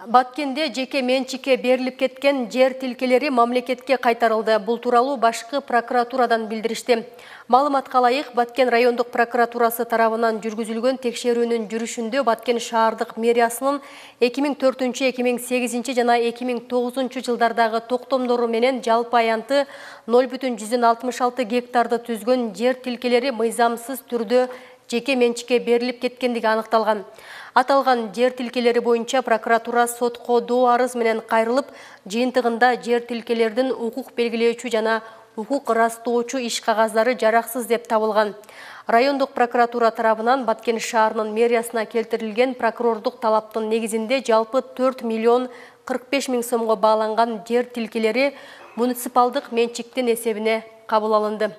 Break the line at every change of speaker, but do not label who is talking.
Баткенде жеке менчикке берилип кеткен жер тилкелери мамлекетке кайтарылды. Бул тууралуу башкы прокуратурадан билдиришти. Маалыматка ылайык, Баткен райондук прокуратурасы тарабынан жүргүзүлгөн текшерүүнүн жүрүшүндө Баткен шаардык мэриясынын 2004-2008 жана 2009 жылдардагы токтомдору менен жалпы аянты 0,66 гектарды түзгөн жер тилкелери мыйзамсыз түрдө жеке менчикке берилип кеткендиги аныкталган. Аталган жер тилкелери боюнча прокуратура сотко доо арыз менен кайрылып, жыйынтыгында жер тилкелердин укук белгилөөчү жана укук ырастоочу иш кагаздары жараксыз деп табылган. Райондук прокуратура тарабынан Баткен шаарынын мэриясына келтирилген прокурордук талаптын негизинде жалпы 4 миллион 45 миң сомго бааланган жер тилкелери муниципалдык менчиктин эсебине кабыл алынды.